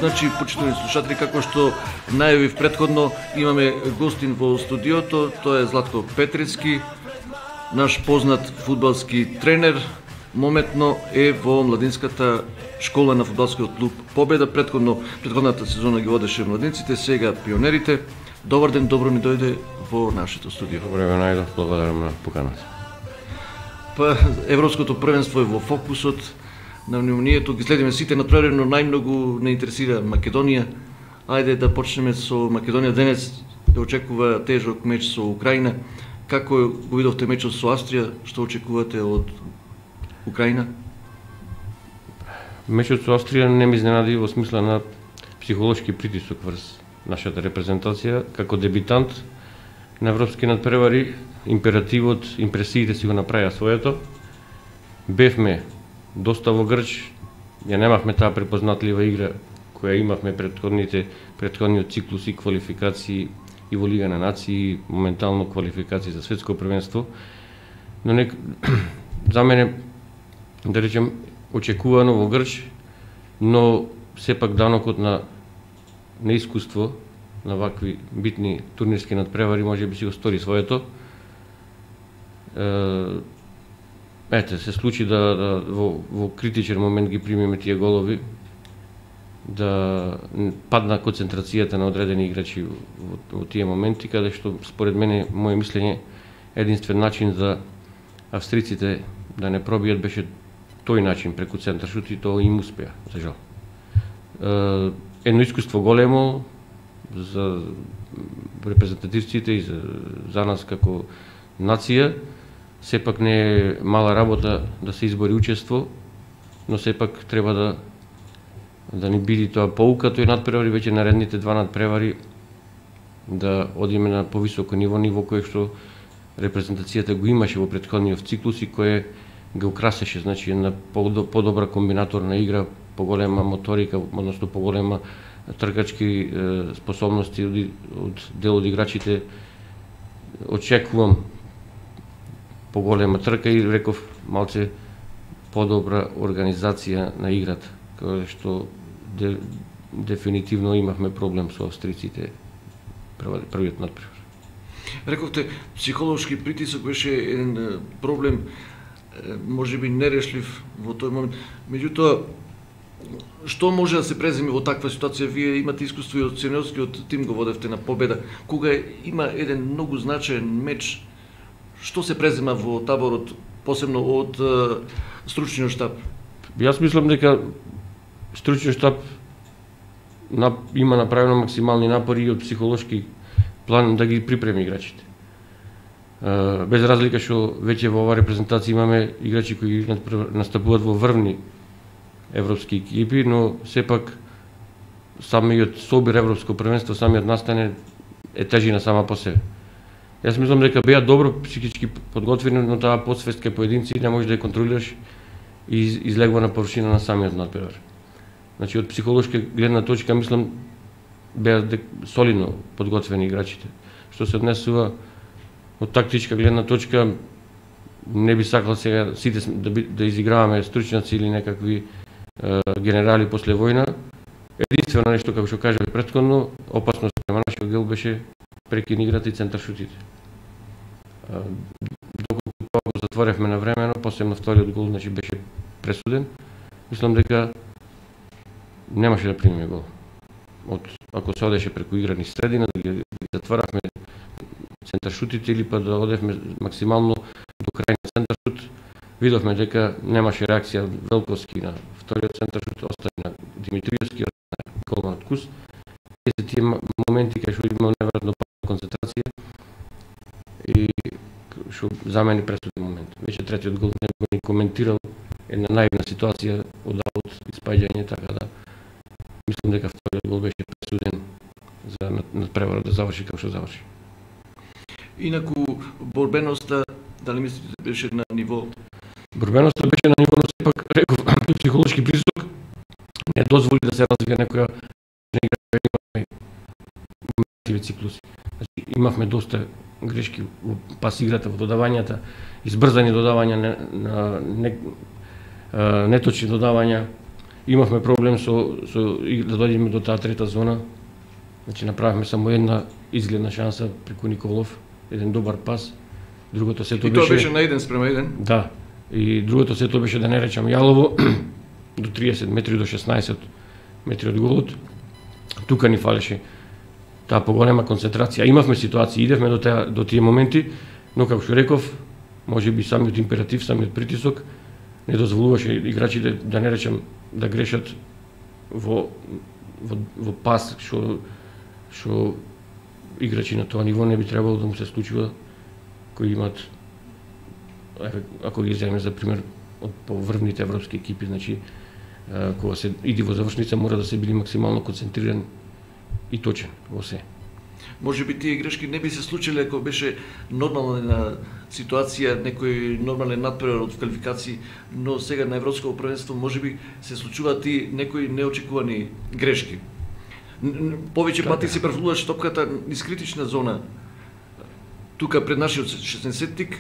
Значи, почитувани слушатели, како што најавив претходно, имаме гостин во студиото, тоа е Златко Петрицки, наш познат фудбалски тренер, моментно е во младинската школа на фудбалскиот клуб Победа. Претходната сезона ги водеше младинците, сега пионерите. Добар ден, добро ми дојде во нашето студио. Добре ве најдов, благодарам на поканата. Па, европското првенство е во фокусот на вниманието, ги следиме сите натпревари, но најмногу не интересира Македонија. Ајде да почнеме со Македонија. Денес очекува тежок меч со Украина. Како го видовте мечот со Австрија? Што очекувате од Украина? Мечот со Австрија не ме изненади во смисла на психолошки притисок врз нашата репрезентација. Како дебитант на европски надпревари, императивот, импресиите си го направија своето. Бевме доста во грч, ја немавме таа препознатлива игра која имавме претходниот циклус и квалификации и во Лига на нации, моментално квалификации за светско првенство. Но за мене, да речем, очекувано во грч, но сепак данокот на неискуство на вакви битни турнирски надпревари може би си го стори своето. Се случи да во критичен момент ги примиме тие голови, да падна концентрацијата на одредени играчи во тие моменти, каде што според мене, моје мислење, единствен начин за австриците да не пробијат беше тој начин преку центаршут и тоа им успеа, за жал. Едно искуство големо за репрезентативците и за нас како нација. Сепак не е мала работа да се избори учество, но сепак треба да ни биде тоа поука тој надпревари, веќе наредните два надпревари да одиме на повисоко ниво кое што репрезентацијата го имаше во претходниот циклус и кое го украсеше, значи една подобра комбинаторна игра, поголема моторика, односно поголема тркачки способности од дел од играчите. Очекувам поголема трка и реков малце подобра организација на играта, каде што дефинитивно имавме проблем со австриците првиот надпревар. Рековте, психолошки притисок беше еден проблем, може би нерешлив во тој момент. Меѓутоа, што може да се преземи во таква ситуација? Вие имате искуство и од сениорскиот тим го водевте на Победа. Кога има еден многу значаен меч, што се презема во таборот, посебно од стручниот штаб? Јас мислам дека стручниот штаб има направено максимални напори од психолошки план да ги припреми играчите. Без разлика што веќе во оваа репрезентација имаме играчи кои настапуваат во врвни европски екипи, но сепак самиот собир европско првенство, самиот настане е тежина сама по себе. Јас мислам дека беа добро психички подготвени, но таа подсвест кај поединци не можеш да ја контролираш и излегува на површина на самиот надпревар. Значи, од психолошка гледна точка, мислам, беа солидно подготвени играчите. Што се однесува од тактичка гледна точка, не би сакал сега сите да изиграваме стручњаци или некакви генерали после војна. Единствено нешто, како што кажав претходно, опасно спрема нашиот гол беше прекин играта и центаршутите. Доколку тоа го затворевме на времено, посебно вториот гол, значи беше пресуден, мислам дека немаше да примиме гол. Ако се одеше преку играни средина, да ги затворавме центаршутите или па да одевме максимално до крај на центаршут, видовме дека немаше реакција Велковски на вториот центаршут, остави на Димитриевски, на голманот Кус. Се тие моменти кај што имам неверојатно концентрација и што за мене пресуден момент. Веќе третиот гол не го ни коментирал, една наивна ситуација од аут испаѓање, така да мислам дека вториот гол беше пресуден за надпреварот да заврши како што заврши. Инаку борбеноста, дали мислите беше на ниво? Борбеноста беше на ниво, но сепак реков психолошки притисок не дозволи да се развие некоја игра, имавме циклуси. Значи, имавме доста грешки во пас играта, во додавањата, избрзани додавања, неточни додавања, имавме проблем да дојдеме до таа трета зона. Значи направивме само една изгледна шанса преку Николов, еден добар пас. Другото сето беше... И тоа беше на 1:1. Да. И другото сето беше, да не речам јалово, до 30 метри до 16 метри од голот. Тука ни фалеше таа поголема концентрација. Имавме ситуации, идевме до тие моменти, но како што реков, можеби самиот императив, самиот притисок не дозволуваше играчите, да не речам, да грешат во пас што играчи на тоа ниво не би требало да му се случува, кои имат, ако ги земеме за пример од поврвните европски екипи, значи кога се иди во завршница мора да се биде максимално концентриран и точен во се. Може би тие грешки не би се случиле ако беше нормална ситуација, некој нормален надпревар од квалификации, но сега на европско првенство можеби се случуваат и некои неочекувани грешки. Повеќе пати се префрлуваше топката низ критична зона. Тука пред нашиот 16-тик,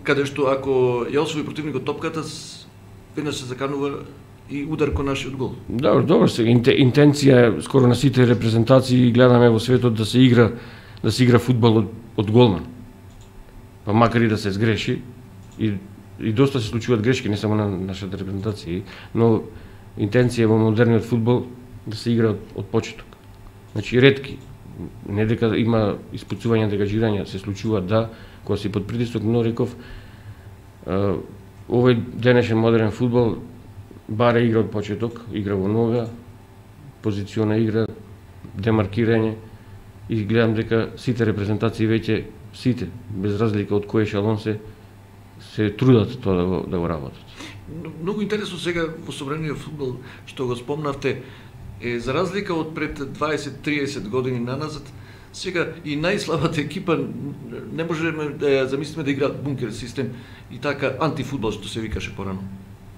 каде што ако ја освои противникот топката, веднаш се заканува и удар кон нашиот гол. Добро, сега интенција скоро на сите репрезентации гледаме во светот да се игра фудбал од голман. Па макар и да се сгреши и доста се случуваат грешки не само на нашата репрезентација, но интенција во модерниот фудбал да се игра од почеток. Значи ретки, не дека има испуцување, дегажирање, се случуваат да, кога си под притисок, но реков овој денешен модерен фудбал баре игра од почеток, игра во нога, позициона игра, демаркирање, и гледам дека сите репрезентации веќе, сите, без разлика од кој ешалон се трудат тоа да го работат. Многу интересно сега во современиот фудбал, што го спомнавте, за разлика од пред 20-30 години наназад, сега и најслабата екипа не можеме да ја замислиме да играат бункер систем и така антифудбал што се викаше порано.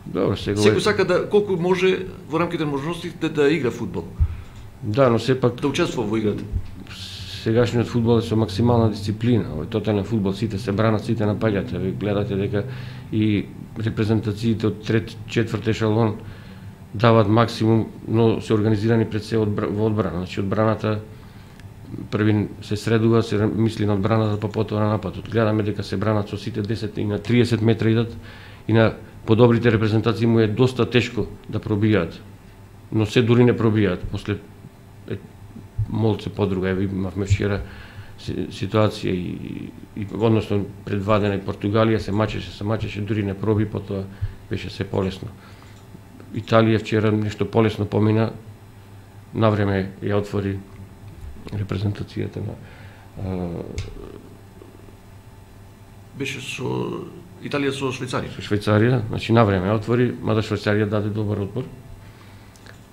Добро, сега секој сака да колку може во рамките на можностите да игра фудбал. Да, но сепак да учествува во играта. Сегашниот фудбал е со максимална дисциплина. Овој тотален фудбал, сите се бранат, сите напаѓаат. Вие гледате дека и репрезентациите од трет, четврт ешалон даваат максимум, но се организирани пред се во одбрана. Значи одбраната први се средува, се мисли на одбраната, па потоа на нападот. Гледаме дека се бранат со сите 10 и на 30 метра идат, и на подобрите репрезентации му е доста тешко да пробијаат. Но се дури не пробијаат. После молце подруга, имавме вчера ситуација и односно пред 2 дена и Португалија се мачеше, дури не проби, потоа беше се полесно. Италија вчера нешто полесно помина, навреме ја отвори репрезентацијата на беше со Италија со Швајцарија. Со Швајцарија, значи навреме ја отвори, мада Швајцарија даде добар отпор.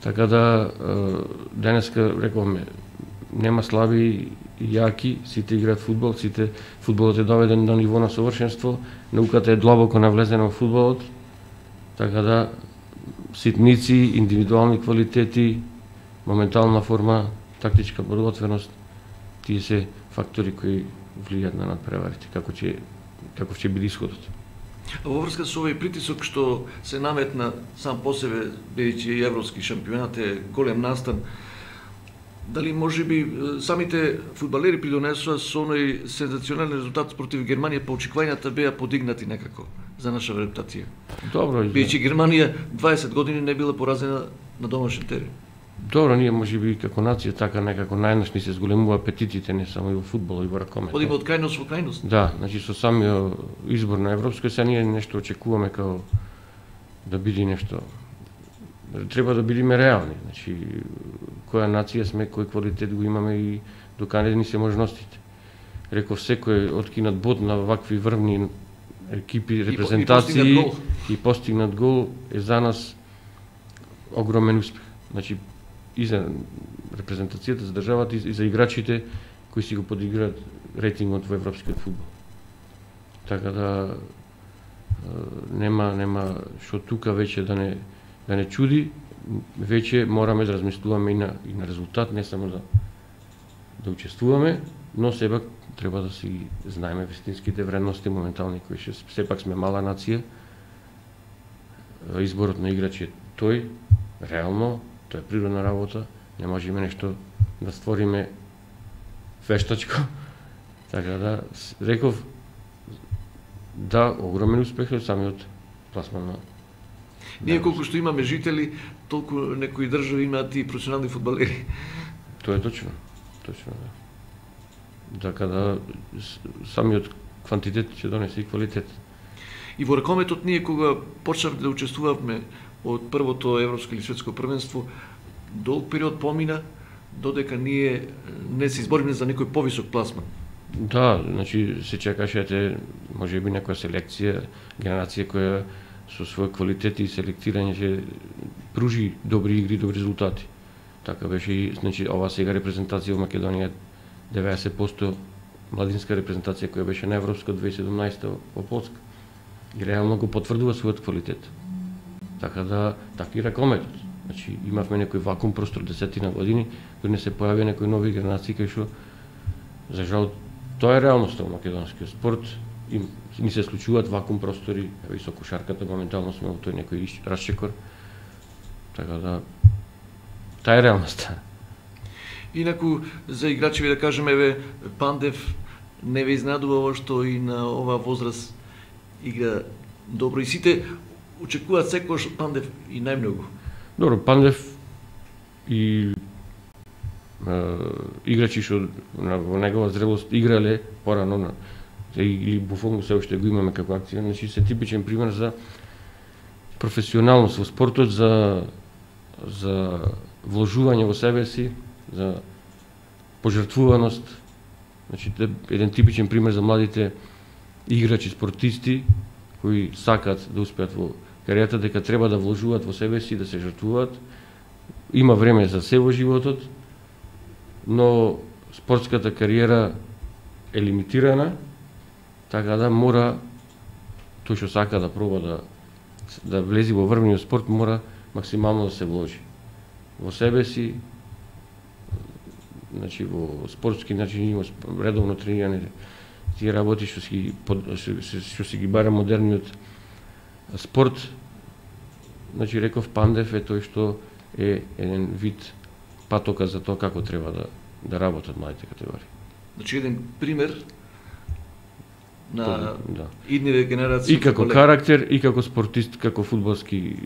Така да денеска рековме нема слаби и јаки, сите играат фудбал, сите фудбалот е доведен до ниво на совршенство, науката е длабоко навлезена во фудбалот. Така да ситници, индивидуални квалитети, моментална форма, тактичка подготвеност, тие се фактори кои влијаат на надпреварите, каков ќе биде исходот. А во врска со овој притисок што се наметна сам по себе, бидејќи европски шампионат е голем настан, дали можеби самите фудбалери придонесоа со оној сензационален резултат против Германија, па очекувањата беа подигнати некако за наша репутација? Добро, бидејќи Германија 20 години не била поразена на домашен терен. Добро, ние можеби како нација така некако најнаш ни се зголемува апетитите, не само и во фудбал, и во ракомет. Одиме од крајност во крајност. Да, значи со самиот избор на европско, сега ние нешто очекуваме како да биде нешто. Треба да бидеме реални, значи која нација сме, кој квалитет го имаме и докаде ни се можностите. Реков секој откинат бод на вакви врвни екипи, репрезентации и постигнат гол е за нас огромен успех. Значи и за репрезентацијата, за државата и за играчите кои си го подиграат рейтингот во европскиот фудбал. Така да нема што тука веќе да не чуди, веќе мораме да размислуваме и на резултат, не само да учествуваме, но сепак треба да си знаеме вистинските вредности моментални кои сепак сме мала нација. Изборот на играч е тој реално, тоа е природна работа, не можеме нешто да створиме вештачко. Така да, реков, да, огромен успех е самиот пласман на... Ние колку што имаме жители, толку некои држави имаат и професионални фудбалери. Тоа е точно, да. Така да, самиот квантитет ќе донесе и квалитет. И во ракометот ние кога почнавме да учествувавме од првото европско или светско првенство, долг период помина додека ние не се избориме за некој повисок пласман. Да, значи се чекаше можеби некоја селекција, генерација која со свој квалитет и селектирање ќе пружи добри игри, добри резултати. Така беше и значи ова сега репрезентација во Македонија 90% младинска репрезентација која беше на европска 2017 во Полска. И реално го потврдува својот квалитет. Така да, така и ракометот. Значи имавме некој вакуум простор десетина години, кога не се појавија некои нови генерации кај што за жал тоа е реалноста во македонскиот спорт. И ни се случуваат вакуум простори, и со кошарката моментално сме во тој некој расчекор. Така да, таа е реалноста. Инаку за играчеви да кажеме, еве Пандев не ве изненадува ова што и на оваа возраст игра добро и сите очекуваат секогаш од Пандев и најмногу. Добро, Пандев и играчи што во негова зрелост играле порано или Буфон се уште го имаме како акција, значи се типичен пример за професионалност во спортот, за вложување во себе си, за пожртвуваност. Значи еден типичен пример за младите играчи, спортисти кои сакаат да успеат во кариерата, дека треба да вложуваат во себе си, да се жртвуваат. Има време за се во животот, но спортската кариера е лимитирана, така да мора тој што сака да проба да влези во врвниот спорт, мора максимално да се вложи во себе си. Значи во спортски начин има редовно тренирање, тие работи што си ги бара модерниот спорт. Значи реков Пандев е тој што е еден вид патока за тоа како треба да работат младите категории. Значи еден пример на идниве генерации. И како карактер, и како спортист, како фудбалски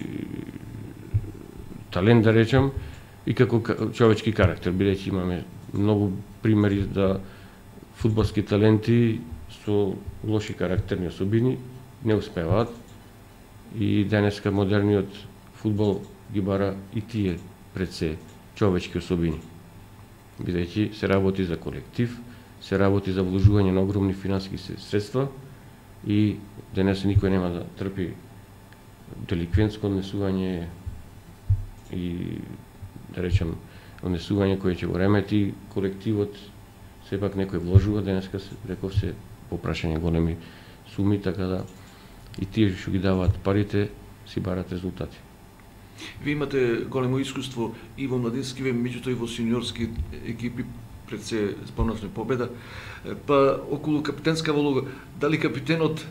талент да речам, и како човечки карактер, бидејќи имаме многу примери да фудбалски таленти со лоши карактерни особини не успеваат и денеска модерниот фудбал ги бара и тие пред се човечки особини. Бидејќи се работи за колектив, се работи за вложување на огромни финансиски средства и денес никој нема да трпи деликвентско однесување и да речем однесување кое ќе го ремети колективот. Сепак некој вложува, денеска реков се попрашање големи суми, така да и тие што ги даваат парите си барат резултати. Ви имате големо искуство и во младинскиве, меѓутоа и во сениорски екипи, пред се спомнавме победа. Па околу капитенска улога, дали капитенот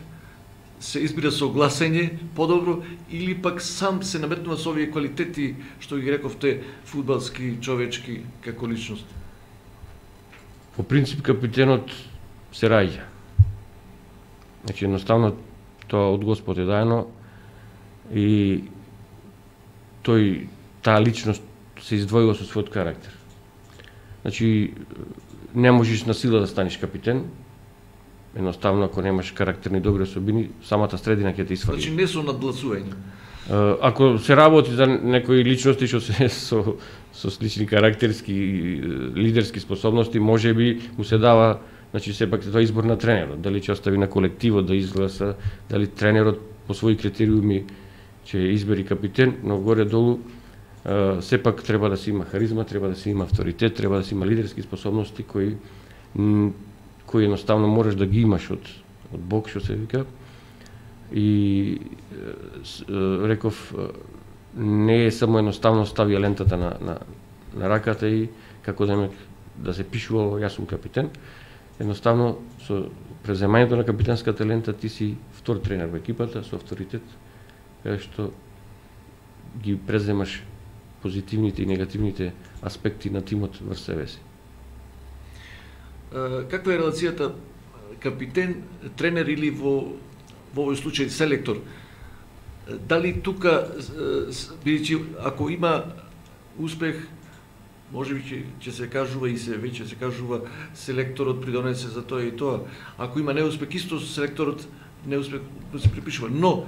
се избира со гласење подобро или пак сам се наметнува со овие квалитети што ги рековте фудбалски, човечки како личност? По принцип капитенот се раѓа. Значи едноставно тоа од Господ е даено и таа личност се издвојува со својот карактер. Значи не можеш на сила да станеш капитен. Едноставно ако немаш карактерни добри особини, самата средина ќе те исфали. Значи не со надгласување. Ако се работи за некои личности што се со слични карактерски лидерски способности, можеби му се дава, значи сепак тоа избор на тренерот, дали ќе остави на колективот да изгласа, дали тренерот по своји критериуми ќе избери капитен, но горе-долу сепак треба да се има харизма, треба да се има авторитет, треба да се има лидерски способности кои едноставно можеш да ги имаш од Бог, што се вика. И реков, не е само едноставно стави лентата на раката и како да се пишува јас сум капитен. Едноставно со преземањето на капитенската лента ти си втор тренер во екипата со авторитет, кај што ги преземаш позитивните и негативните аспекти на тимот врз себе си. Каква е релацијата капитен, тренер или во овој случај селектор? Дали тука, бидејќи ако има успех, можеби ќе се кажува и се веќе се кажува селекторот придонесе за тоа и тоа. Ако има неуспех, исто селекторот неуспех се припишува. Но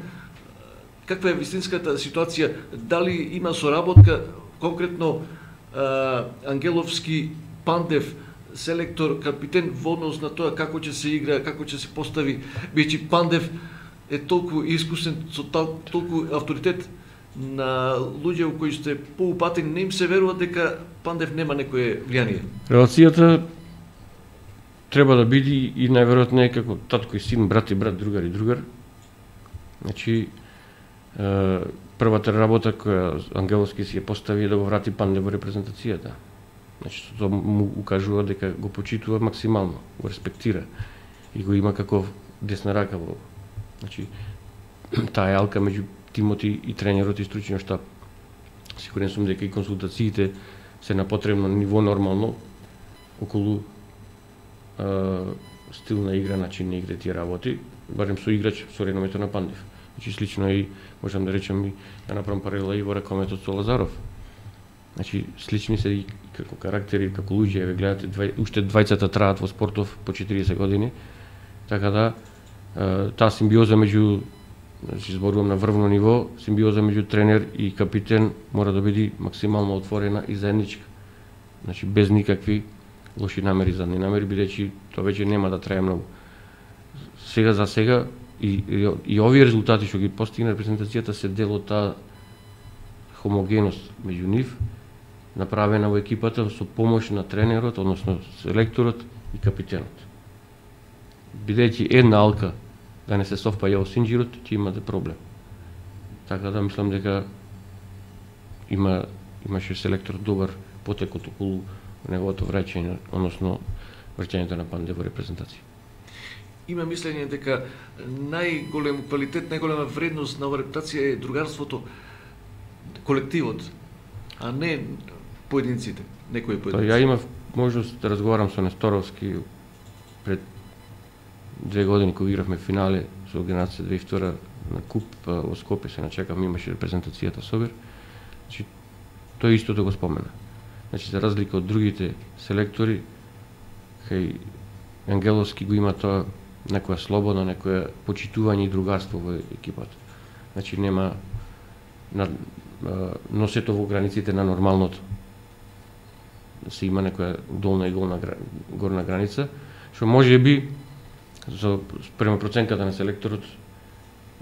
каква е вистинската ситуација? Дали има соработка конкретно Ангеловски, Пандев, селектор, капитен во однос на тоа како ќе се игра, како ќе се постави, бидејќи Пандев е толку искусен, со толку авторитет на луѓе кои сте поупатени, не им се верува дека Пандев нема некое влијание. Релацијата треба да биде и најверојатно е како татко и син, брат и брат, другар и другар. Значи, првата работа која Ангеловски си ја постави е да го врати Пандев во репрезентацијата. Значи, тоа му укажува дека го почитува максимално, го респектира и го има како десна рака во. Значи, таа јалка меѓу тимот и тренерот и стручниот штаб. Сигурен сум дека и консултациите се на потребно ниво нормално околу стил на игра, начин на игра тие работи, барем со играч со реномето на Пандев. Значи, слично и можам да речем и да направам паралела и во ракометот со Лазаров. Значи, слични се и како карактери, како луѓе, ве гледате, уште двајцата траат во спортов по 40 години, така да таа симбиоза меѓу, значи зборувам на врвно ниво, симбиоза меѓу тренер и капитен мора да биде максимално отворена и заедничка. Значи, без никакви лоши намери, задни намери, бидејќи тоа веќе нема да трае многу. Сега за сега и овие резултати што ги постигна репрезентацијата се дел од таа хомогеност меѓу нив, направена во екипата со помош на тренерот, односно селекторот и капитенот. Бидејќи една алка да не се совпаја во синџирот, ќе имате проблем. Така да мислам дека имаше селектор добар потекот околу неговото враќање, односно враќањето на Пандев во репрезентација. Има мислење дека најголем квалитет, најголема вредност на оваа репрезентација е другарството, колективот, а не поединците, некои поединци. Ја имав можност да разговарам со Несторовски пред 2 години кога игравме финале со генерација 2002 на куп во Скопје, се начекав, имаше репрезентацијата Собир. Значи, тој исто да го спомена. Значи, за разлика од другите селектори, кај Ангеловски го има тоа некоја слобода, некоја почитување и другарство во екипата. Значи, нема носето во границите на нормалното. Се има некоја долна и горна граница, што може би спрема проценката на селекторот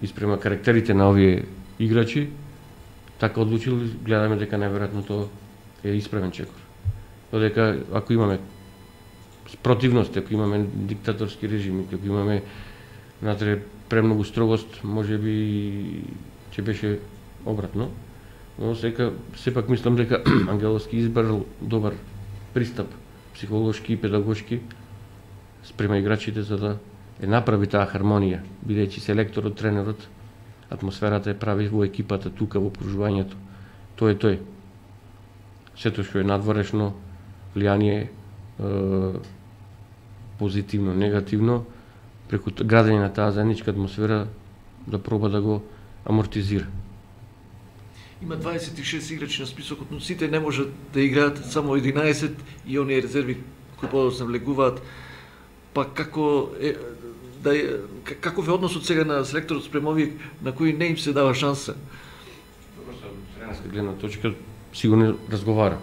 и спрема карактерите на овие играчи, така одлучил, гледаме дека најверојатно тоа е исправен чекор. Додека ако имаме спротивност, ако имаме диктаторски режими, ако имаме натре премногу строгост, може би ќе беше обратно. Но сепак мислам дека Ангеловски избрал добар пристап, психолошки и педагошки спрема играчите за да направи таа хармонија, бидејќи селекторот, тренерот, атмосферата е прави во екипата, тука во окружувањето. Тој е тој. Сето што е надворешно влијание, позитивно, негативно, преку градење на таа заедничка атмосфера да проба да го амортизира. Има 26 играчи на списокот, но сите не можат да играат, само 11 и оние резерви кои подоцна влегуваат. Па како каков е односот сега на селекторот спрема овие на кои не им се дава шанса? Со тренерска гледна точка сигурно разговара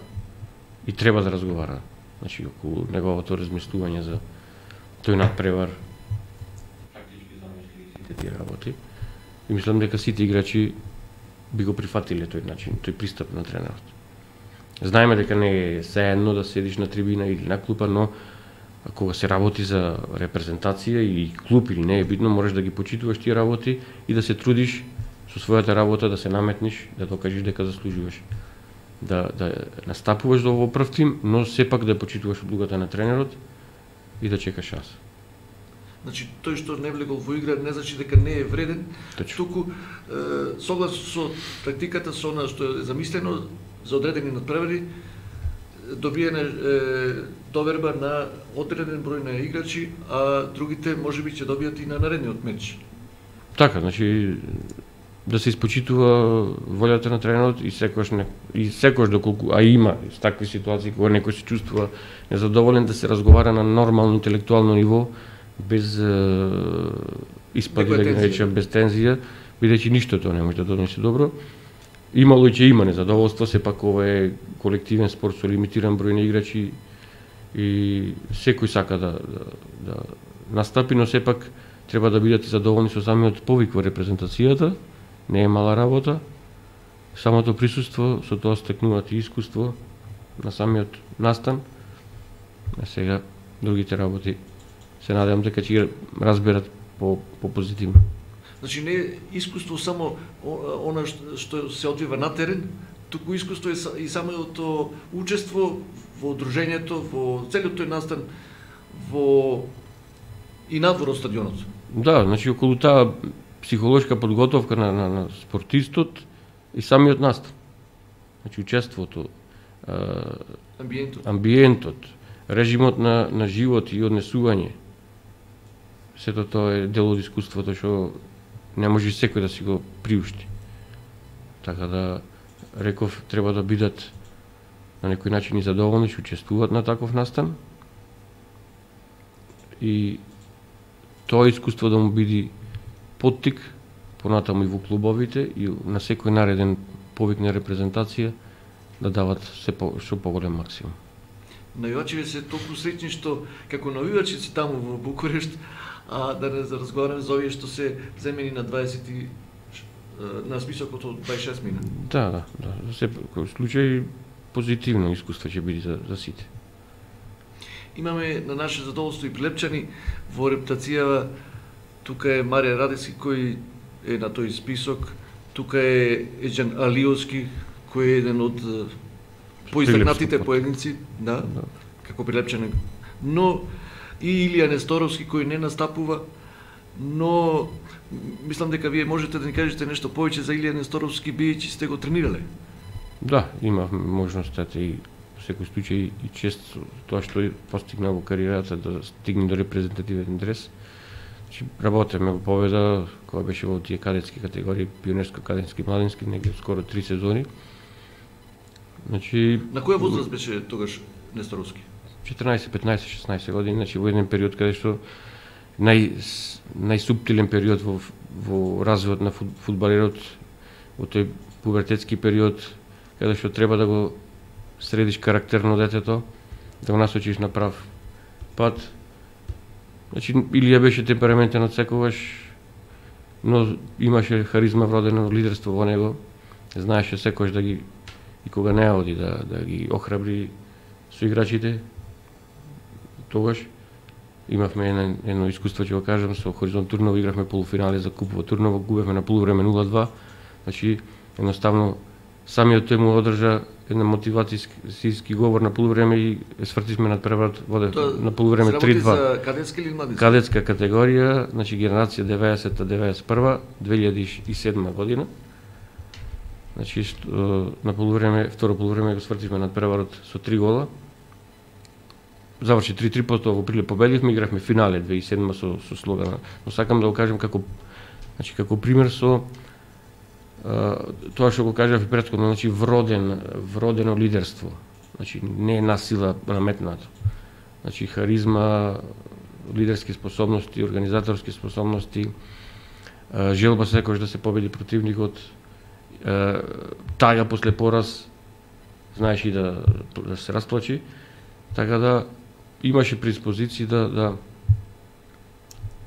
и треба да разговара. Значи околу неговото размислување за тој надпревар, тактички замисли сите тие работи. И мислам дека сите играчи би го прифатиле тој начин, тој пристап на тренерот. Знаеме дека не е сеедно да седиш на трибина или на клупа, но кога се работи за репрезентација и клуб или не е битно, можеш да ги почитуваш тие работи и да се трудиш со својата работа да се наметниш, да докажеш дека заслужуваш. Да настапуваш во прв тим, но сепак да почитуваш одлугата на тренерот и да чекаш шанса. Значи тој што не влегол во игра не значи дека не е вреден, туку согласно со тактиката со она што е замислено за одредени надпревари, добиена доверба на одреден број на играчи, а другите можеби ќе добијат и на наредниот меч. Така, значи да се испочитува волјата на тренерот и секогаш доколку има такви ситуации кога некој се чувствува незадоволен, да се разговара на нормално интелектуално ниво, без испади, да ги наречам, без тензија, бидејќи ништо тоа не може да донесе добро. Имало и ќе има незадоволство, сепак ова е колективен спорт со лимитиран број на играчи и секој сака да настапи, но сепак треба да бидат задоволни со самиот повик во репрезентацијата, не е мала работа. Самото присуство, со тоа стекнуваат и искуство на самиот настан. А сега другите работи се надевам дека ќе ги разберат по позитивно. Значи не е искуство само она што се одвива на терен, туку искуство е и самото учество во дружењето, во целиот тој настан, и надвор од стадионот. Да, значи околу таа психолошка подготовка на спортистот и самиот настан. Значи учеството, амбиентот, режимот на живот и однесување. Сето тоа е дел од искуството што не може секој да си го приушти. Така да, реков, треба да бидат на некој начин и задоволни што учествуваат на таков настан и тоа искуство да му биде поттик понатаму и во клубовите и на секој нареден повик на репрезентација да дават што поголем максимум. Навивачите се толку среќни што како навивачи си таму во Букурешт, а да не разговараме за овие што се земени на 20 на списокот од 26 мина. Да. За секој случај позитивно искуство ќе биде за сите. Имаме на наше задоволство и Прилепчани во рептацијава. Тука е Марија Радески кој е на тој список, тука е Еџан Алиовски кој е еден од поистакнатите поединци, да, како Прилепчани. Но и Илија Несторовски кој не настапува, но мислам дека вие можете да ни кажете нешто повеќе за Илија Несторовски, бидејќи сте го тренирале. Да, имав можността и секој случај и чест тоа што постигна во кариерата да стигне до репрезентативен дрес. Работеме го победа кога беше во тие кадетски категории, пионерско, кадетски, младински, негде скоро 3 сезони. Значи на која возраст беше тогаш Несторовски? 14, 15, 16 години, значи во еден период каде што најсуптилен период во развојот на фудбалерот, во тој пубертетски период, каде што треба да го средиш карактерно детето, да го насочиш на прав пат. Значи, Илија беше темпераментен од секогаш, но имаше харизма вродено, лидерство во него, знаеше секогаш да ги, и кога не оди, да ги охрабри со играчите. Тогаш имавме едно искуство, ќе го кажам, со Хоризонт Турново игравме полуфинале за куп во Турново, губевме на полувреме 0-2. Значи, едноставно, самиот тој му одржа една мотивацијски говор на полувреме и свртивме надпреварот на полувреме 3-2. За кадетска или младинска? Кадетска категорија, значи генерација 90-91, 2007 година. Значи на полувреме, второ полувреме го свртивме надпреварот со 3 гола. Заврши 3-3, потоа во Прилеп победивме, игравме финале 2007 со Слогана. Но сакам да го кажам како пример со тоа што го кажав и претходно, значи вродено лидерство. Значи не е насила наметнато. Значи харизма, лидерски способности, организаторски способности, желба секогаш да се победи противникот, таја после пораз, знаеш и да се расплачи, така да имаше предиспозиции да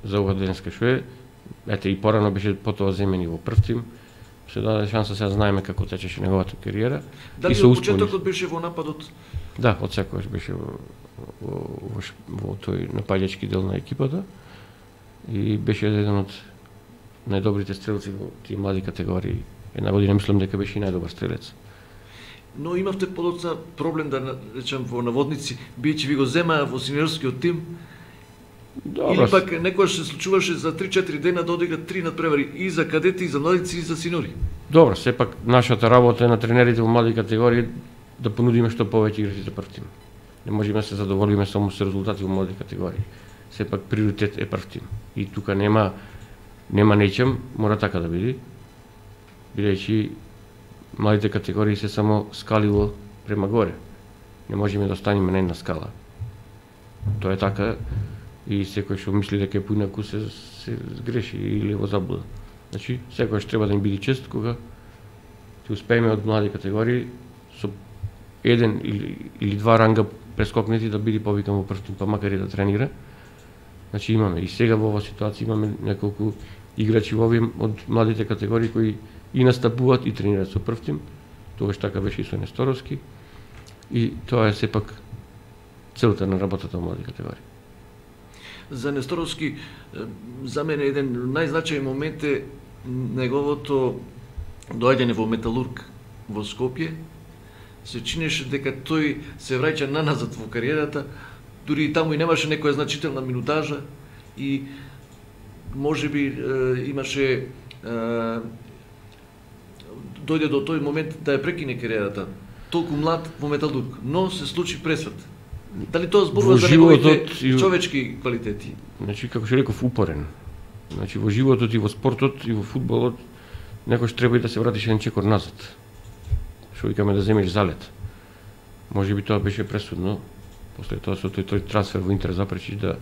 за ова денеска што е. Ете и порано беше потоа земени во прв тим. Се даде шанса, сега знаеме како течеше неговата кариера. Дали од почетокот беше во нападот? Да, од секогаш беше во тој нападачки дел на екипата и беше еден од најдобрите стрелци во тие млади категории. Една година мислам дека беше и најдобар стрелец. Но имавте подоцна проблем, да речем во наводници, бидејќи ви го земаа во синьорскиот тим Или пак некојаш се случуваше за 3-4 дена да одиграат 3 надпревари и за кадети, и за младици, и за синьори. Добро, сепак нашата работа е на тренерите во млади категории да понудиме што повеќе играчи за прв тим. Не можеме да се задоволиме само со резултати во млади категории. Сепак приоритет е прв тим. И тука нема нечем, мора така да биде. Бидејќи младите категории се само скалило према горе. Не можеме да останеме на една скала. Тоа е така и секој што мисли дека е поинаку се сгреши или во заблуда. Значи, секој што треба да ни биде чест кога ќе успееме од млади категории со еден или два ранга прескокнети да биде повикан во прв тим, па макар и да тренира. Значи имаме и сега во оваа ситуација имаме неколку играчи во овие од младите категории кои и настапуваат и тренираат со прв тим. Тогаш така беше и со Несторовски. И тоа е сепак целта на работата во млади категории. За Несторовски, за мене еден најзначајен момент е неговото доаѓање во Металург во Скопје. Се чинеше дека тој се враќа наназад во кариерата, дури и таму и немаше некоја значителна минутажа и можеби имаше дојде до тој момент да ја прекине кариерата. Толку млад во Металург, но се случи пресвет. Дали тоа зборува за неговите човечки квалитети? Значи, како што реков, упорен. Значи, во животот и во спортот и во фудбалот некојаш треба и да се вратиш еден чекор назад. Што викаме да земеш залет. Може би тоа беше пресудно. После тоа со тој трансфер во Интер запречиш да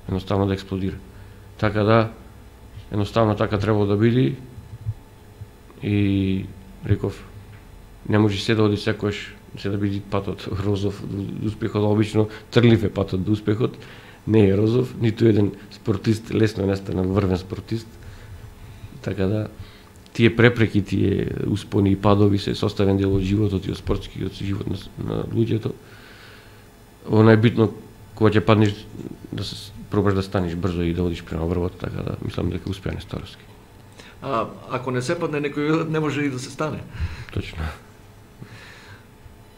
едноставно да експлодира. Така да, едноставно така требало да биде и реков, не може се да оди секојаш се да биде патот розов до успехот, обично трлив е патот до успехот, не е розов, ниту еден спортист лесно не стане врвен спортист. Така да, тие препреки, тие успони и падови се составен дел од животот и од спортскиот живот на луѓето. Ово најбитно, кога ќе паднеш, да се пробаш да станеш брзо и да одиш према врвот, така да мислам дека успеа Несторовски. А ако не се падне некој, не може и да се стане. Точно.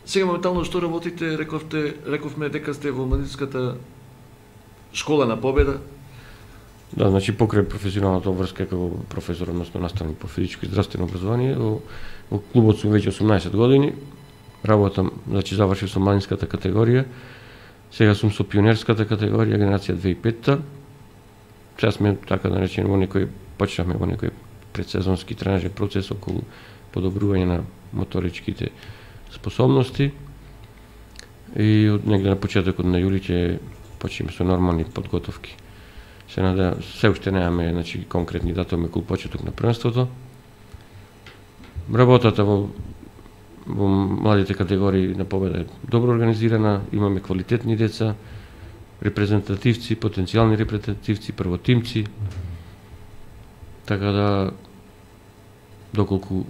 Сега моментално што работите, рековме дека сте во младинската школа на Победа. Да, значи покрај професионалната обврска како професор, односно наставник по физичко и здравствено образование, во клубот сум веќе 18 години. Работам, значи завршив со младинската категорија. Сега сум со пионерската категорија, генерација 2005-та. Сега сме, така да речеме, почнавме во некој предсезонски тренажен процес околу подобрување на моторичките способности. И од негде на почетокот на јули ќе почнеме со нормални подготовки. Се уште немаме, значи, конкретни датуми околу почеток на првенството. Работата во младите категории на Победа е добро организирана, имаме квалитетни деца, репрезентативци, потенцијални репрезентативци, првотимци. Така да, доколку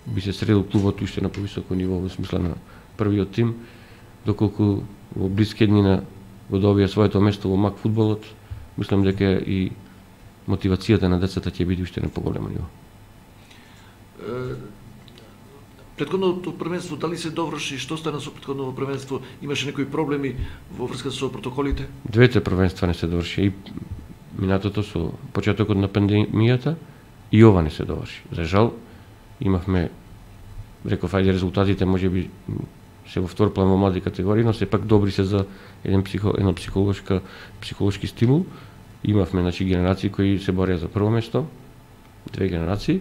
би се средил клубот уште на повисоко ниво во смисла на првиот тим, доколку во блиски днина го добија своето место во МАК фудбалот, мислам дека и мотивацијата на децата ќе биде уште на поголемо ниво. Претходното првенство дали се доврши, што стана со претходното првенство? Имаше некои проблеми во врска со протоколите? Двете првенства не се доврши, и минатото со почетокот на пандемијата и ова не се доврши. За жал, имавме, реков, ајде резултатите можеби се во втор план во млади категории, но сепак добри се за еден психолошки стимул. Имавме, значи, генерации кои се борија за прво место, две генерации,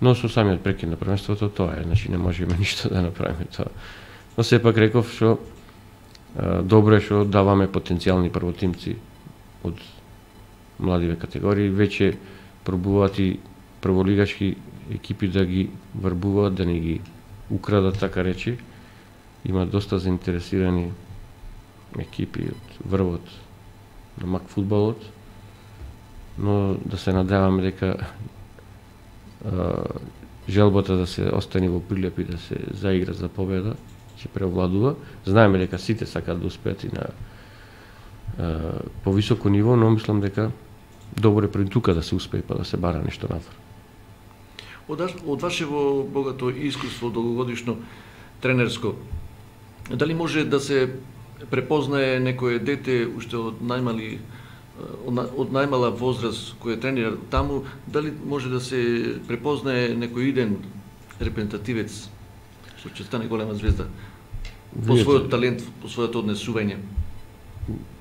но со самиот прекин на првенството тоа е, значи не можеме ништо да направиме тоа. Но сепак реков што добро е што даваме потенцијални првотимци од младиве категории, веќе пробуваат и прволигашки екипи да ги врбуваат, да не ги украдат, така речи. Има доста заинтересирани екипи од врвот на МАК фудбалот, но да се надеваме дека желбата да се остане во Прилеп и да се заигра за победа ќе превладува. Знаеме дека сите сакаат да успеат и на повисоко ниво, но мислам дека добро е пред тука да се успее па да се бара нешто надвор. Од вашево богато искуство долгогодишно тренерско, дали може да се препознае некое дете уште од најмала возраст кој е тренер таму, дали може да се препознае некој иден репрезентативец што ќе стане голема звезда по својот талент, по својот однесување?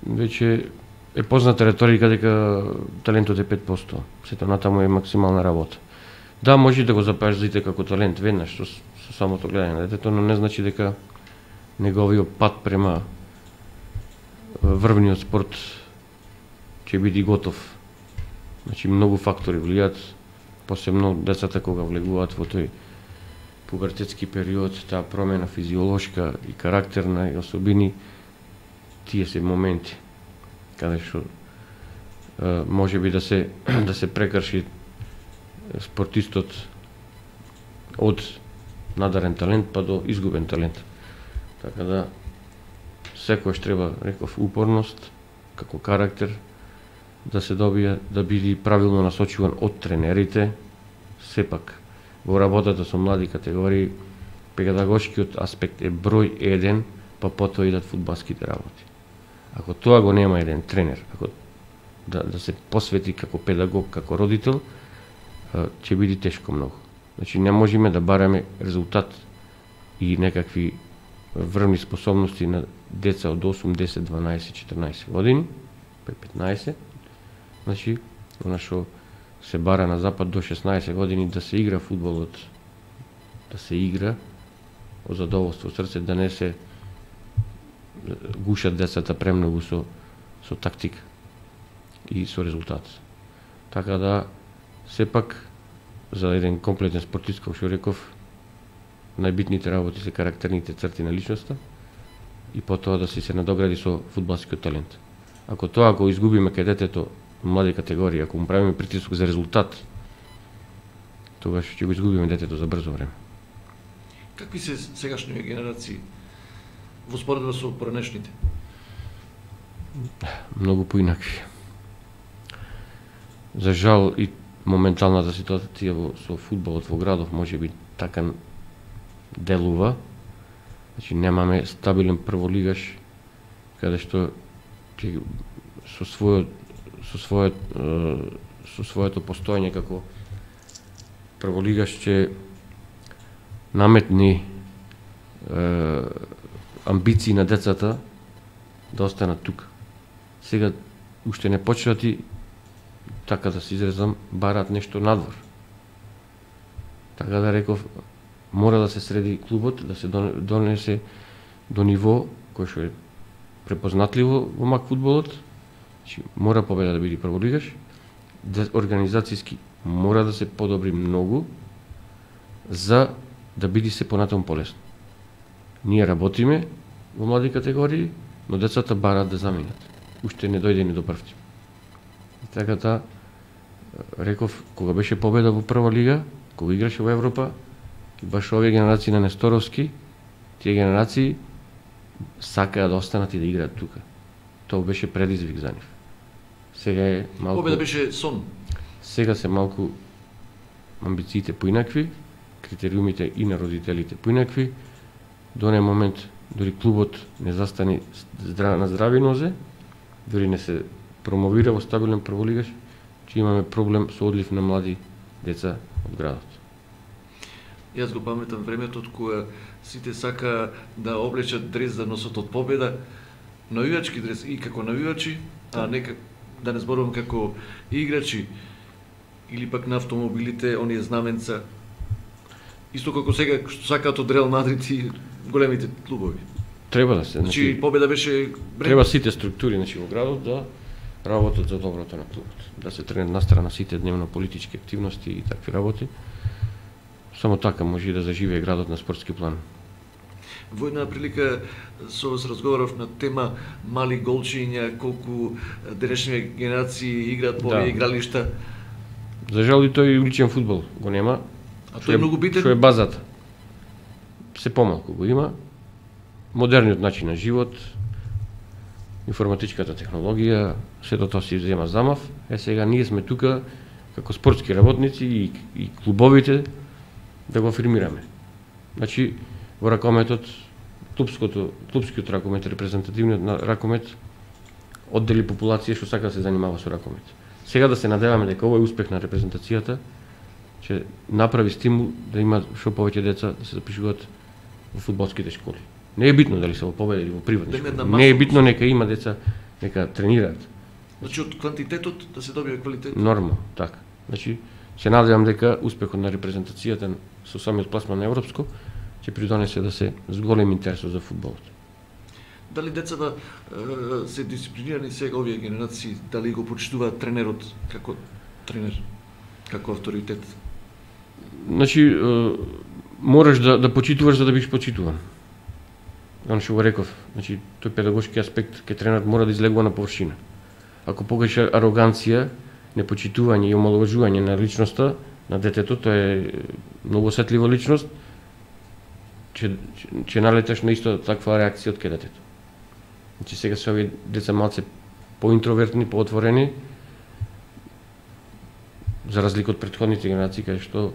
Веќе е позната реторика дека талентот е 5%, сето натаму е максимална работа. Да, може да го запаеш дете како талент веднаш со самото гледање на детето, но не значи дека неговиот пат према врвниот спорт ќе биде готов. Значи многу фактори влијаат, посебно децата кога влегуваат во тој пубертетски период, таа промена физиолошка и карактерна и особини, тие се моменти каде што може би да се прекрши спортистот од надарен талент па до изгубен талент. Така да секојаш треба, реков, упорност како карактер да се добие, да биде правилно насочуван од тренерите. Сепак во работата со млади категории педагошкиот аспект е број 1, па потоа идат фудбалските работи. Ако тоа го нема еден тренер, ако да се посвети како педагог, како родител, ќе биде тешко многу. Значи не можеме да бараме резултат и некакви врвни способности на деца од 8, 10, 12, 14 години, 15. Значи, она што се бара на запад до 16 години да се игра фудбалот, да се игра од задоволство срце, да не се гушат децата премногу со тактика и со резултат. Така да, сепак, за еден комплетен спортист, како што реков, најбитните работи се карактерните црти на личноста и потоа да се надогради со фудбалскиот талент. Ако тоа го изгубиме кај детето млади категории, ако му правиме притисок за резултат, тогаш ќе го изгубиме детето за брзо време. Какви се сегашните генерации во споредба со поранешните? Многу поинакви. За жал и моменталната ситуација со фудбалот во градов може би така делува. Значи немаме стабилен прволигаш каде што со своето постоење како прволигаш ќе наметни амбиции на децата да останат тука. Сега уште не почнати, така да се изрезам, бараат нешто надвор. Така да реков, мора да се среди клубот, да се донесе до ниво кој што е препознатливо во мак фудбалот. Значи, мора Победа да биде прволигаш, организацијски мора да се подобри многу за да биде се понатаму полесно. Ние работиме во млади категории, но децата бараат да заминат. Уште не дојде ни до прв тим. Така да, реков, кога беше Победа во прва лига, кога играше во Европа, и баш овие генерации на Несторовски, тие генерации сакаат да останат и да играат тука. Тоа беше предизвик за нив. Сега е малку... Победа беше сон. Сега се малку амбициите поинакви, критериумите и на родителите поинакви. До онен момент дори клубот не застани на здрави нозе, дори не се промовира во стабилен прволигаш, че имаме проблем со одлив на млади деца од градот. Јас го паметам времето кога сите сака да облечат дрес за носот од Победа, навивачки дрес и како навивачи, а не да не зборувам како играчи или пак на автомобилите, оние знаменца. Исто како сега што сакаат од Реал Мадрид и големите клубови. Треба да се, значи Победа беше треба сите структури во градот да работат за доброто на клубот. Да се тренат настрана сите дневно политички активности и такви работи. Само така може да заживее градот на спортски план. Во една прилика со вас разговарав на тема мали голчиња, колку денешни генерации играат по овие игралишта. За жал и тој уличен фудбал го нема. А тој е многу битен. Што е базата. Се помалку го има. Модерниот начин на живот, информатичката технологија, сето тоа се зема замав. Сега ние сме тука како спортски работници и клубовите да го афирмираме. Значи, во ракометот клупскиот ракомет, репрезентативниот на ракомет оддели популација што сака да се занимава со ракомет. Сега да се надеваме дека овој успех на репрезентацијата ќе направи стимул да има што повеќе деца да се запишуваат во фудбалските школи. Не е битно дали се во Победа или во приватни школи. Не е битно, нека има деца, нека тренираат. Значи од квантитетот да се добие квалитет. Нормално, така. Значи се надевам дека успехот на репрезентацијата со самиот пласман на европско ќе придонесе да се зголеми интересот за фудбалот. Дали децата се дисциплинирани сега овие генерации, дали го почитуваат тренерот како тренер, како авторитет? Значи мораш да почитуваш за да бидеш почитуван. Оно што го реков, значи тој педагошки аспект ке тренерот мора да излегува на површина. Ако покажеш ароганција, непочитување и омаловажување на личноста на детето, тоа е многу осетлива личност, ќе налеташ на исто таква реакција од кај детето. Значи сега се овие деца малце поинтровертни, поотворени, за разлика од претходните генерации, кај што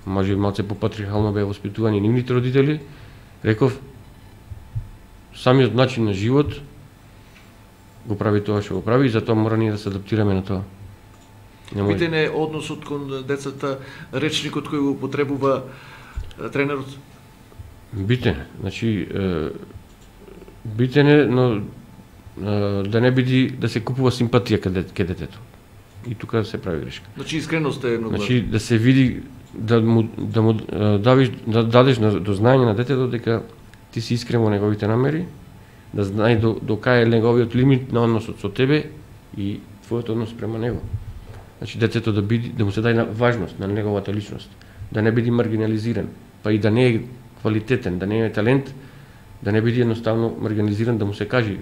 може би малце попатриархално беа воспитувани нивните родители, реков, самиот начин на живот го прави тоа што го прави и затоа мора ние да се адаптираме на тоа. Битен е односот кон децата, речникот кој го употребува тренерот? Битен е, значи битен е, но да не биде да се купува симпатија кај детето. И тука се прави грешка. Значи искреност е многу. Значи да се види да му дадеш до знаење на детето дека ти си искрен во неговите намери, да знае до кај е неговиот лимит на односот со тебе и твојот однос према него. Значи детето да му се даде важност на неговата личност, да не биде маргинализиран, па и да не е квалитетен, да не е талент, да не биде едноставно маргинализиран, да му се каже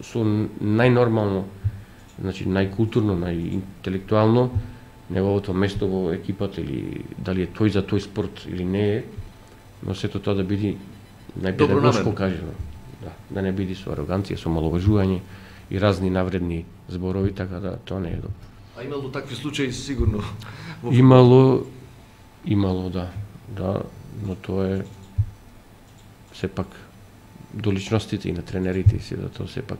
со најнормално, значи најкултурно, најинтелектуално неговото место во екипата или дали е тој за тој спорт или не е, но сето тоа да биде најпедагошко кажено. Да не биде со ароганција, со маловажување и разни навредни зборови, така да тоа не е добро. А имало такви случаи сигурно? Имало, да, но тоа е сепак до личностите и на тренерите и се да тоа сепак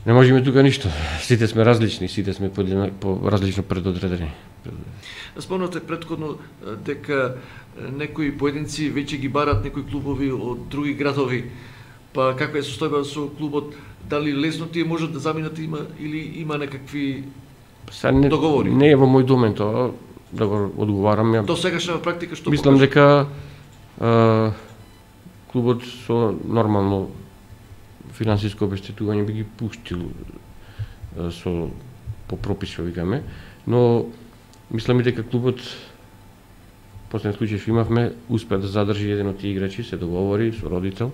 не можеме тука ништо. Сите сме различни, сите сме по различно предодредени. Спомнате претходно дека некои поединци веќе ги барат некои клубови од други градови. Па каква е состојба со клубот? Дали лесно тие можат да заминат или има некакви договори? Не е во мој домен тоа да го одговарам. До сегашна практика што мислам дека клубот со нормално финансиско обештетување би ги пуштил по пропис што викаме, но мислам и дека клубот последен случај што имавме успеа да задржи еден од тие играчи, се договори со родител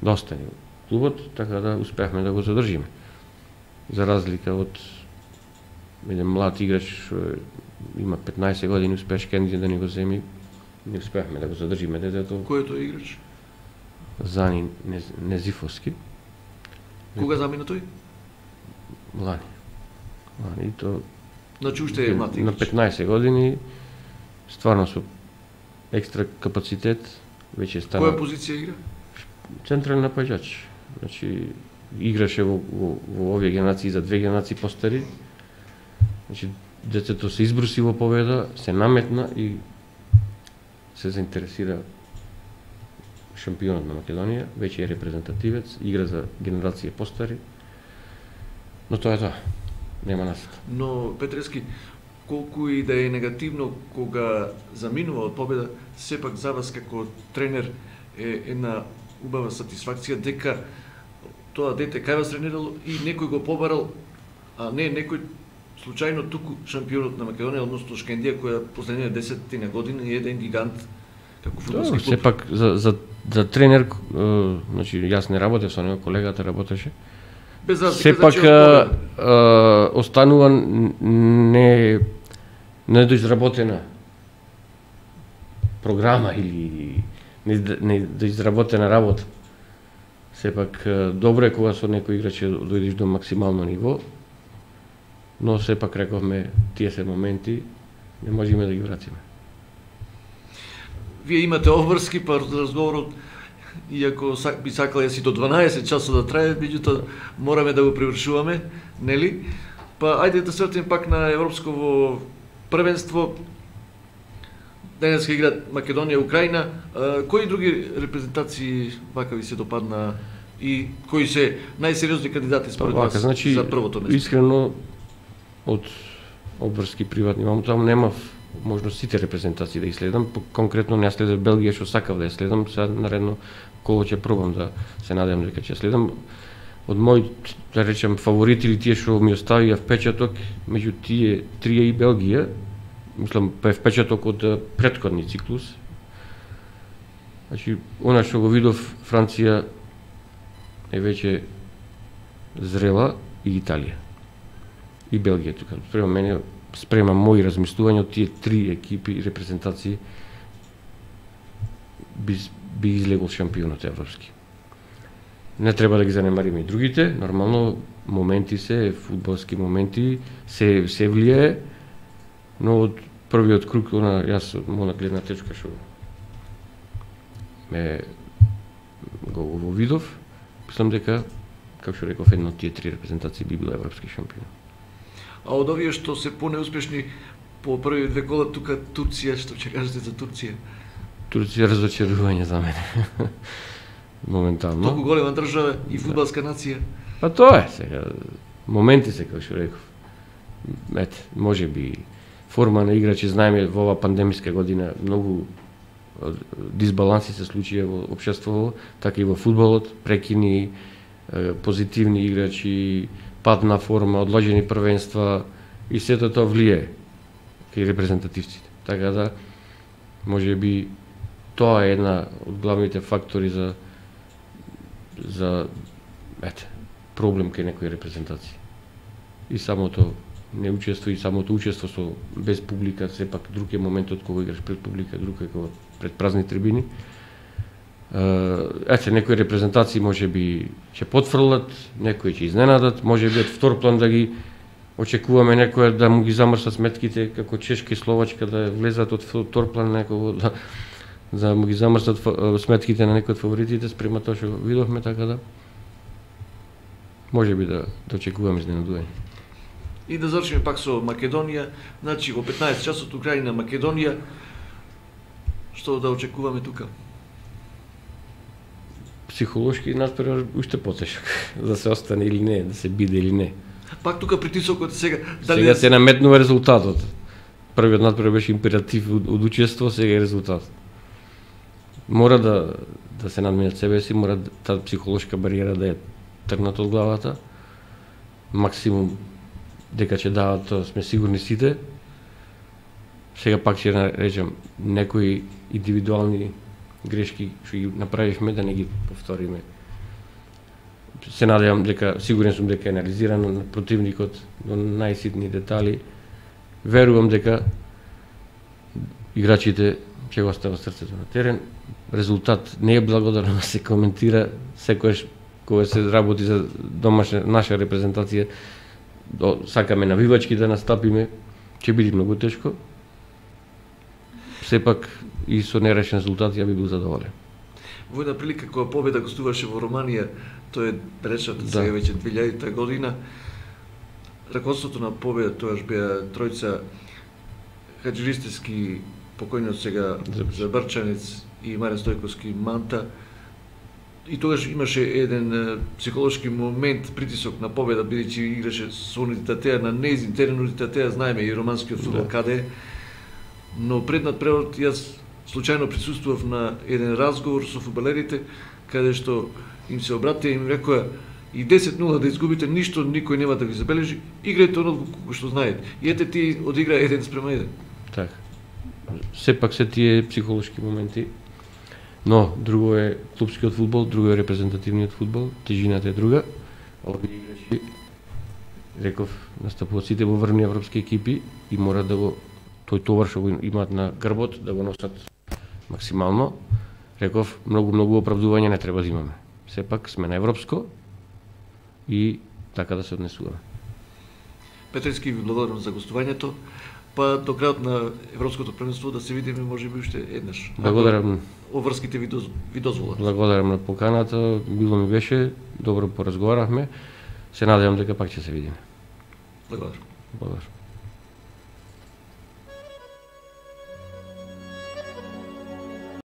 да остане клубот, така да успеавме да го задржиме. За разлика од еден млад играч што има 15 години, успеаш Кенди да ни го земи, не успеавме да го задржиме детето. Кој е тој играч? Зани Незифовски. Кога замина тој? Лани то. Значи уште е млад играч. На 15 години, стварно со екстра капацитет, веќе стана. Која позиција игра? Централен напаѓач. Значи играше во овие генерации за две генерации постари. Значи детето се избруси во Победа, се наметна и се заинтересира шампионот на Македонија, веќе е репрезентативец, игра за генерација постари. Но тоа е тоа. Нема насока. Но Петрески, колку и да е негативно кога заминува од Победа, сепак за вас како тренер е една убава сатисфакција дека тоа дете кај вас тренирало и некој го побарал, а не некој случајно туку шампионот на Македонија, односно Шкендија, која последните 10 години е еден гигант како фудбалски клуб. Сепак за тренер, значи јас не работев со него, колегата работеше. Без разлика, сепак останува недоизработена програма или недоизработена работа. Сепак добро е кога со некој играч дојдеш до максимално ниво, но сепак рековме тие се моменти не можеме да ги вратиме. Вие имате обврски, па разговорот иако би сакал јас и до 12 часот да трае, меѓутоа мораме да го привршуваме, нели? Па ајде да свртиме пак на европско првенство. Денеска играат Македонија, Украина. Кои други репрезентации вака ви се допадна и кои се најсериозни кандидати според вас значи, за првото место? Искрено од обврски приватни, таму немав можност сите репрезентации да ги следам, конкретно не следам Белгија што сакав да ја следам, сега наредно коло ќе пробам да се надевам дека ќе следам. Од мои, да речем, фаворити или тие што ми оставија впечаток, меѓу тие трие и Белгија, мислам, па е впечаток од претходни циклус. Значи, она што го видов, Франција е веќе зрела и Италија. И Белгија тука. Спрема мои размислувања од тие три екипи и репрезентации би излегол шампионот европски. Не треба да ги занемариме и другите, нормално моменти се, фудбалски моменти, се влијае, но од првиот круг, јас од моја гледна точка што ме го видов, мислам дека, како што реков, една од тие три репрезентации би била европски шампион. А од овие што се понеуспешни по први две кола, тука Турција, што ќе кажете за Турција? Турција е разочарување за мене. Моментално. Толку голема држава и фудбалска нација. Па тоа е сега. Моменти се, како што реков. Ете, може би форма на играчи, знаеме во ова пандемиска година многу дисбаланси се случија во општеството, така и во фудбалот, прекини, позитивни играчи, пад на форма, одложени првенства и сето тоа влијае кај репрезентативците. Така да, може би тоа е една од главните фактори за проблем кај некои репрезентации. И самото неучество и самото учество со без публика, сепак друг е моментот кога играш пред публика, друг е кога пред празни трибини. Некои репрезентации може би ќе потфрлат, некои ќе изненадат, може би од втор план да ги очекуваме некоја да му ги замрсат сметките, како Чешка и Словачка да влезат од втор план некого да му ги замрсат сметките на некои од фаворитите спрема тоа што видовме, така да може би да очекуваме изненадување. И да завршиме пак со Македонија, значи во 15 часот Украина, Македонија, што да очекуваме тука? Психолошки надпревар уште потешок, да се остане или не, да се биде или не. Пак тука притисокот сега... Сега се наметнува резултатот. Првиот надпревар беше императив од учество, сега е резултат. Мора да се надминат себе си, мора таа психолошка бариера да е тргната од главата. Максимум дека ќе дават тоа, сме сигурни сите. Сега пак ќе речем некои индивидуални грешки што ги направивме да не ги повториме. Се надевам дека, сигурен сум дека е анализирано на противникот до најситни детали. Верувам дека играчите ќе го остават срцето на терен. Резултат не е благодарно да се коментира, секогаш кога се работи за домашна наша репрезентација, сакаме навивачки да настапиме, ќе биде многу тешко. Сепак и со нерешен резултат ја би бил задоволен. Во една прилика кога победа гостуваше во Романија, тоа е далечната сега веќе 2000 година, раководството на победа тоаш беа тројца Хаџиристевски, покојниот сега Забрчанец и Марен Стојковски Манта. И тогаш имаше еден психолошки момент, притисок на победа, бидејќи играше со унитетеа на нејзин терен, унитетеа знаеме и романскиот фудбал каде е. Но пред надпреварот јас случајно присуствував на еден разговор со фудбалерите, каде што им се обратија и им рекоа и 10-0 да изгубите, ништо никој нема да ви забележи, играјте оно како што знаете. И ете ти одигра 1:1. Така. Сепак се тие психолошки моменти. Но, друго е клупскиот фудбал, друго е репрезентативниот фудбал, тежината е друга. Овие играчи, реков, настапуваат сите во врвни европски екипи и мора да го тој товар што го имаат на грбот да го носат максимално. Реков, многу оправдување не треба да имаме. Сепак сме на европско и така да се однесуваме. Петрески, ви благодарам за гостувањето. па до крајот на Европското првенство да се видиме можеби уште еднаш. Благодарам. Обврските ви дозволат. Благодарам на поканата, било ми беше, добро поразговаравме. Се надевам дека пак ќе се видиме. Благодарам. Благодарам.